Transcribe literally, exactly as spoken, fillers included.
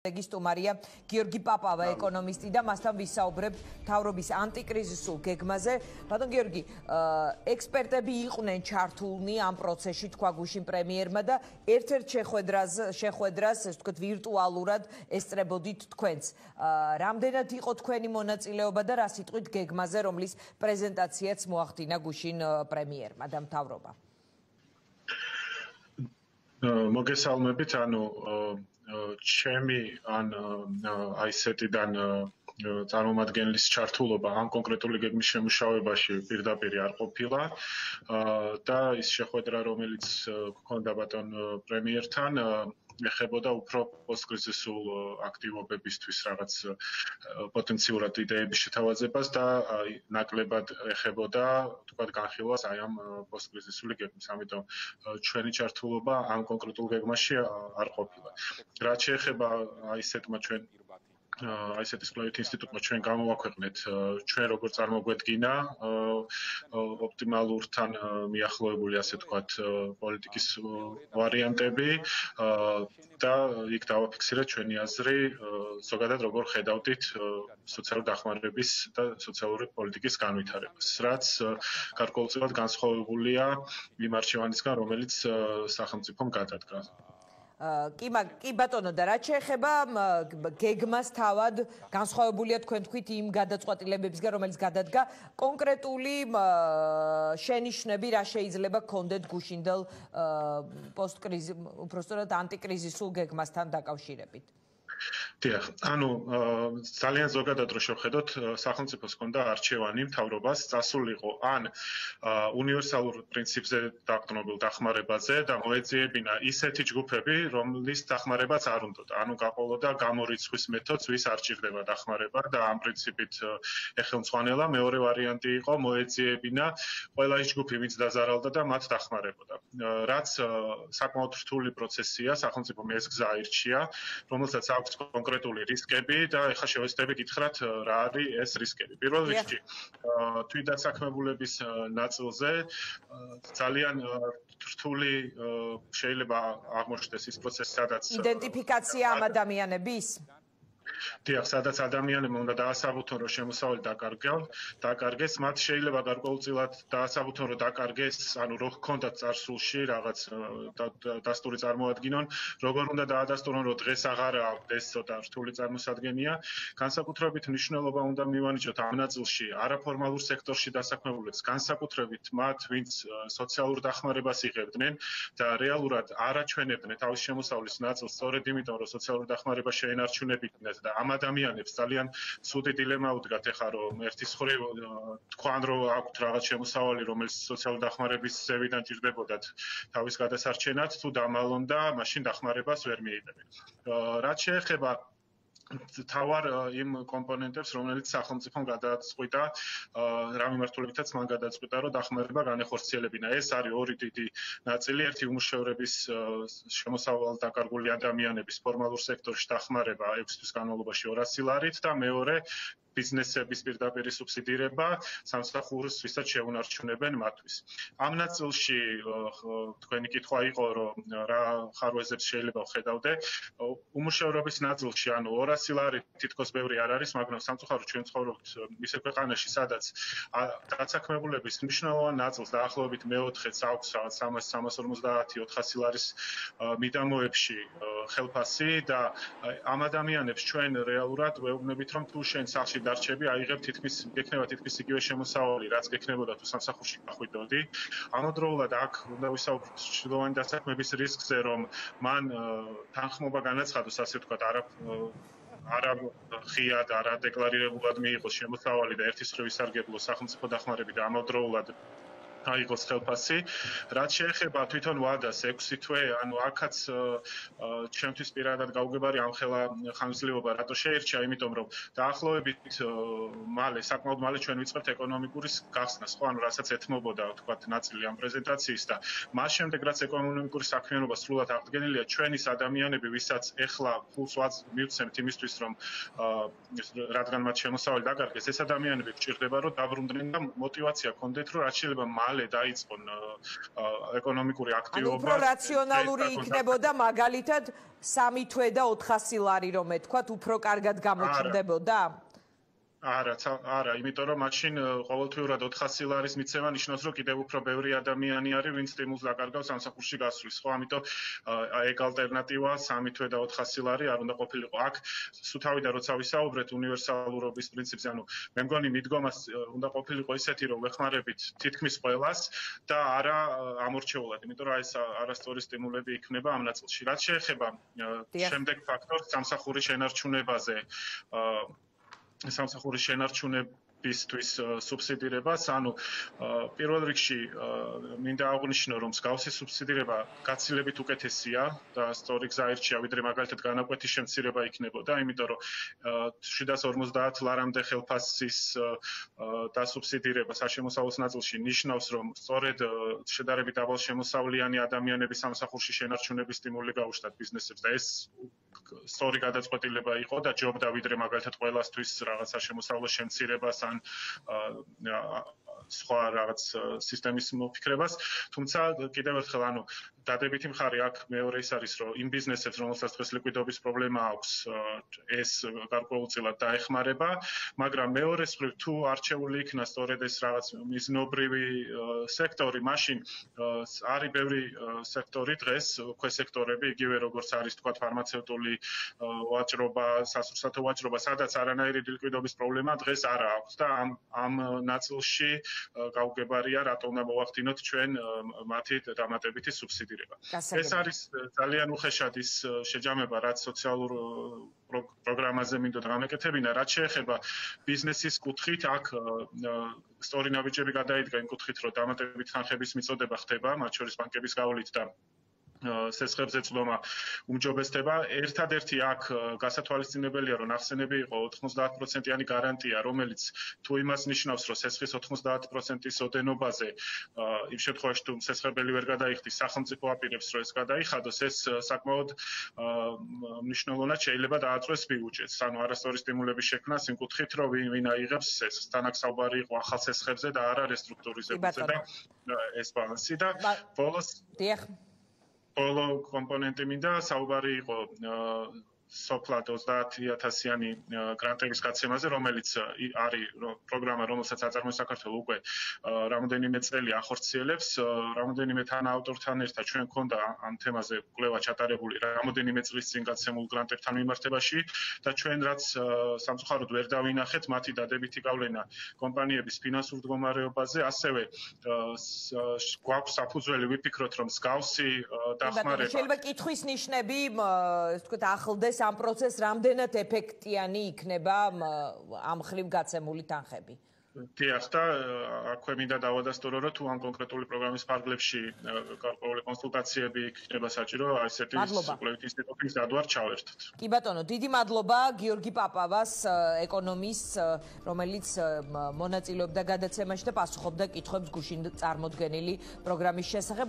Სტუმარია გიორგი პაპავა ეკონომისტი და მასთან ვისაუბრებთ მთავრობის ანტიკრიზისულ გეგმაზე. ბატონ გიორგი, ექსპერტები იყვნენ ჩართულნი ამ პროცესში, თქვა გუშინ პრემიერმა და ერთ-ერთ შეხვედრას, შეხვედრას, ესე ვთქვათ, ვირტუალურად ესწრებოდით თქვენს. რამდენად იყო თქვენი მონაწილეობა და რა სიტყვით გეგმაზე, რომლის პრეზენტაციაც მოახდინა გუშინ პრემიერმა და მთავრობამ? მოგესალმებით, ანუ ჩემი ან აი ესეთიდან წარმომადგენლის ჩართულობა ამ კონკრეტული გეგმის შემუშავებაში პირდაპირ არ ყოფილა და ის შეხვედრა, რომელიც გქონდა ბატონ პრემიერთან, ეხებოდა უფრო პოსტკრიზისულ აქტივობებისთვის რაღაც პოტენციურად იდეების შეთავაზებას და ნაკლებად ეხებოდა თქვათ განხილვას აი ამ პოსტკრიზისული გეგმის. ამიტომ ჩვენი ჩართულობა ამ კონკრეტულ გეგმაში არ ყოფილა. რაც შეეხება აი ესეთმა ჩვენ აი ესეთის კვლევით ინსტიტუტმა ჩვენ გამოვაქვეყნეთ ჩვენ როგორ წარმოგვედგინა ოპტიმალურთან მიახლოებული ასე ვთქვათ პოლიტიკის ვარიანტები და იქ დავაფიქსირეთ ჩვენი აზრი ზოგადად როგორ ხედავდით სოციალური დახმარების და სოციალური პოლიტიკის განვითარებას, რაც გარკვეულწილად განსხვავებულია იმ არჩევანისგან, რომელიც სახელმწიფომ გადადგა. კი კი ბატონო და რაც შეეხება გეგმას თავად განსხვავებულია თქვენ თქვით იმ გადაწყვეტილებებისგან, რომელიც გადადგა, კონკრეტული შენიშვნები რა შეიძლება გქონდეთ გუშინდელ პოსტკრიზის, უბრალოდ ანტიკრიზისულ გეგმასთან დაკავშირებით? დიახ, ანუ ძალიან ზოგადად რო შევხედოთ, სახელმწიფოს ჰქონდა არჩევანი მთავრობას წასულიყო ან უნივერსალურ პრინციპზე დაყრდნობილ დახმარებაზე და მოეძიებინა ისეთი ჯგუფები, რომლის დახმარებაც არ უნდოდა. ანუ გაყოლოდა გამორიცხვის მეთოდს, ვის არ ჭირდება დახმარება და ამ პრინციპით ეხელმძღვანელა. მეორე ვარიანტი იყო მოეძიებინა ყველა ის ჯგუფი, ვინც დაზარალდა და მათ დახმარებოდა. რაც საკმაოდ რთული პროცესია, სახელმწიფომ ეს გზა აირჩია, რომელსაც აქვს კონკრეტული რისკები და ეხლა შევეცდები გითხრათ რა არის ეს რისკები. პირველ რიგში თვითდასაქმებულების ნაწილზე ძალიან რთული შეიძლება აღმოჩნდეს ის პროცესი, სადაც იდენტიფიკაცია ამ ადამიანების დიახ, სადაც ადამიანებმა უნდა დაასაბუთონ, რომ შემოსავალი დაკარგეს, დაკარგეს, მათ შეიძლება გარკვეულწილად დაასაბუთონ, რომ დაკარგეს, ანუ რო ჰქონდათ წარსულში რაღაც დასტური წარმოადგინონ, როგორ უნდა დაადასტურონ, რომ დღეს აღარ აქვთ, ეს ცოტა რთული წარმოსადგენია. განსაკუთრებით მნიშვნელობა უნდა მივანიჭოთ ამ ნაწილში არაფორმალურ სექტორში დასაქმებულებს, განსაკუთრებით მათ, ვინც სოციალურ დახმარებას იღებდნენ და რეალურად არ აჩვენებდნენ თავის შემოსავლის ნაწილს, სწორედ იმიტომ, რომ სოციალურ დახმარებას შეენარჩუნებიდნენ და ამ ადამიანებს ძალიან ცუდი დილემა უდგათ ეხლა, რომ ერთის მხრივ თქვან, რომ აქვთ რაღაც შემოსავალი, რომელიც სოციალური დახმარების ზევიდან ჭირდებოდათ თავის გადასარჩენად, თუ დამალონ და მაშინ დახმარებას ვერ მიიღებენ. რაც შეეხება თავარ იმ კომპონენტებს, რომელიც სახელმწიფომ გადაწყვიტა, რა მიმართულებითაც მან გადაწყვიტა, რომ დახმარება განეხორციელებინა. ეს არის ორი დიდი ნაწილი, ერთი უმუშევრების შემოსავალ დაკარგული ადამიანების ფორმალურ სექტორში დახმარება ექვსი თვის განმავლობაში ორასი ლარით და მეორე ბიზნესების პირდაპირ სუბსიდირება სამსახურს, ვისაც შეუნარჩუნებენ მათთვის. ამ ნაწილში თქვენი კითხვა იყო, რომ რა ხარვეზებს შეიძლება ვხედავდე. უმუშევრობის ნაწილში, ანუ ორასი ლარი თითქოს ბევრი არ არის, მაგრამ სამწუხაროდ ჩვენ ცხოვრობთ ისე ქვეყანაში, სადაც დაცაქმებულების მნიშვნელოვან ნაწილს დაახლოებით მეოთხედს აქვს სამას სამას ორმოცდაათი ოთხასი ლარის მიდამოებში ხელფასი და ამ ადამიანებს ჩვენ რეალურად ვეუბნებით, რომ თუ შენ სახლში დარჩები, აიღებ თითქმის გექნება თითქმის იგივე შემოსავალი, რაც გექნებოდა თუ სამსახურში გახვიდოდი. ამავდროულად აქ უნდა ვისაუბროთ ჩრდილოვანი დასაქმების რისკზე, რომ მან თანხმობა განაცხადოს, ასე ვთქვათ, არა არა ღიად, არა დეკლარირებულად მიიღოს შემოსავალი და ერთის მხრივ ისარგებლოს სახელმწიფო დახმარებით და ამავდროულად აიღოს ხელფასი. რაც შეეხება თვითონ ვადას ექვსი თვე, ანუ აქაც ჩემთვის პირადად გაუგებარი ამხელა ხანგრძლივობა რატო შეირჩა, იმიტომ რომ დაახლოებით მალე, საკმაოდ მალე ჩვენ ვიწყებთ ეკონომიკური გახსნას, ხო, ანუ რასაც ეთმობოდა, თქვათ, ნაწილი ამ პრეზენტაციის და მას შემდეგ, რაც ეკონომიკური საქმიანობა სრულად აღდგენილია, ჩვენ ის ადამიანები, ვისაც ეხლა ფულს მივცემთ იმისთვის, რომ რადგან მათ შემოსავალი დაკარგეს, ეს ადამიანები გვჭირდება, რომ დაბრუნდნენ და мотиваცია ჰქონდეთ, რომ რაც შეიძლება მალე დაიწყონ ეკონომიკური აქტივობა. ანუ უფრო რაციონალური იქნებოდა მაგალითად სამი თვე და ოთხასი ლარი რომ ეთქვათ, უფრო კარგად გამოჩნდებოდა? არა, არა, იმიტომ რომ მაშინ ყოველთვიურად ოთხასი ლარის მიცემა ნიშნავს, რომ კიდევ უფრო ბევრი ადამიანი არის, ვინც სტიმულს დაკარგავს სამსახურში გასვლის, ხო? ამიტომ ეგ ალტერნატივა სამი თვე და ოთხასი ლარი არ უნდა ყოფილიყო. აქ სუთავიდან როცა ვისაუბრეთ უნივერსალურობის პრინციპზე, ანუ მე მგონი მიდგომას უნდა ყოფილიყო ისეთი, რომ ვეხმარებით თითქმის ყველას და არა ამორჩეულად, იმიტომ რომ ეს არასწორი სტიმულები იქნება ამ ნაწილში. რაც შეეხება შემდეგ ფაქტორს სამსახურის შენარჩუნებაზე, სამსახურის შენარჩუნებისთვის სუბსიდირებას, ანუ პირველ რიგში მინდა აღვნიშნო, რომ მსგავსი სუბსიდირება გაცილებით უკეთესია და სწორი გზა ირჩია, ვიდრე მაგალითად განაკვეთის შემცირება იქნებოდა, იმიტომ რომ შვიდას ორმოცდაათ ლარამდე ხელფასის დასუბსიდირება საშემოსავლოს ნაწილში ნიშნავს, რომ სწორედ შედარებით დაბალშემოსავლიანი ადამიანების სამსახურში შენარჩუნების სტიმული გაუშვათ ბიზნესებს და ეს სწორი გადაწყვეტილება იყო და ჯობდა ვიდრე მაგალითად ყველასთვის რაღაცა შემოსავლოს შემცირებას ან სხვა რაღაც სისტემის მოფიქრებას, თუმცა კიდევ ერთხელ ანუ დადებითი მხარე აქ მეორე ის არის, რომ იმ ბიზნესებს, რომელსაც დღეს ლიკვიდობის პრობლემა აქვს, ეს გარკვეულწილად დაეხმარება, მაგრამ მეორე მხრივ თუ არჩეული იქნა სწორედ ეს რაღაც მიზნობრივი სექტორი, მაშინ არის ბევრი სექტორი დღეს, ქვესექტორები, იგივე როგორც არის თქვა ფარმაცევტული ვაჭრობა, სასურსათო ვაჭრობა, სადაც არანაირი ლიკვიდობის პრობლემა დღეს არ აქვს და ამ ამ ნაწილში გაუგებარია, რატო უნდა მოვახდინოთ ჩვენ მათი დამატებითი სუბსიდირება. ეს არის ძალიან უხეშად ის შეჯამება, რაც სოციალურ პროგრამაზე მინდოდა გამეკეთებინა, რაც შეეხება ბიზნესის კუთხით, აქ სწორი ნაბიჯები გადაიდგა იმ კუთხით, რომ დამატებითი თანხების მიწოდება ხდება, მათ შორის ბანკების გავლით და სესხებზე წვდომა უმჯობესდება. ერთადერთი აქ გასათვალისწინებელია, რომ ნახსენები იყო ოთხმოცდაათ პროცენტიანი გარანტია, რომელიც თუ იმას ნიშნავს, რომ სესხის ოთხმოცდაათ პროცენტის ოდენობაზე იმ შემთხვევაში თუ სესხებელი ვერ გადაიხდის, სახელმწიფო აპირებს, რომ ეს გადაიხადოს, ეს საკმაოდ მნიშვნელოვნად შეიძლება დააწყვეს ბიუჯეტს. ანუ არასწორი სტიმულების შექმნას იმ კუთხით, რომ ვინ აიღებს სესხს. თანაც საუბარი იყო ახალ სესხებზე და არა რესტრუქტურიზებაზე და ეს ბალანსი და ბოლოს ბოლო კომპონენტი მინდა საუბარი იყო სოფლად ოცდაათი ათასიანი გრანტების გაცემაზე, რომელიც არის პროგრამა, რომელსაც აწარმოებს საქართველოს უკვე რამოდენიმე წელი ახორციელებს, რამოდენიმე თანაავტორთან ერთად ჩვენ გქონდა ამ თემაზე კვლევა ჩატარებული რამოდენიმე წლის წინ გაცემულ გრანტებთან მიმართებაში და ჩვენ რაც სამწუხაროდ ვერ დავინახეთ მათი დადებითი გავლენა კომპანიების ფინანსურ მდგომარეობაზე, ასევე გვაქვს საფუძველი ვიფიქროთ, რომ მსგავსი დახმარება შეიძლება კითხვის ნიშნები, ასე ვთქვათ, ახლდეს ამ პროცესს რამდენად ეფექტიანი იქნება ამ ხრივ გაცემული თანხები? დიახ, და აქვე მინდა დავადასტურო, რომ თუ ამ კონკრეტული პროგრამის ფარგლებში გარკვეული კონსულტაციები იქნება საჭირო, ასეთი კვლევითი ინსტიტუტის დადვარ ჩავერთოთ. კი ბატონო, დიდი მადლობა გიორგი პაპავას, ეკონომისტს, რომელიც მონაწილეობდა გადაცემაში და პასუხობდა კითხვებს გუშინ წარმოდგენილი პროგრამის შესახებ.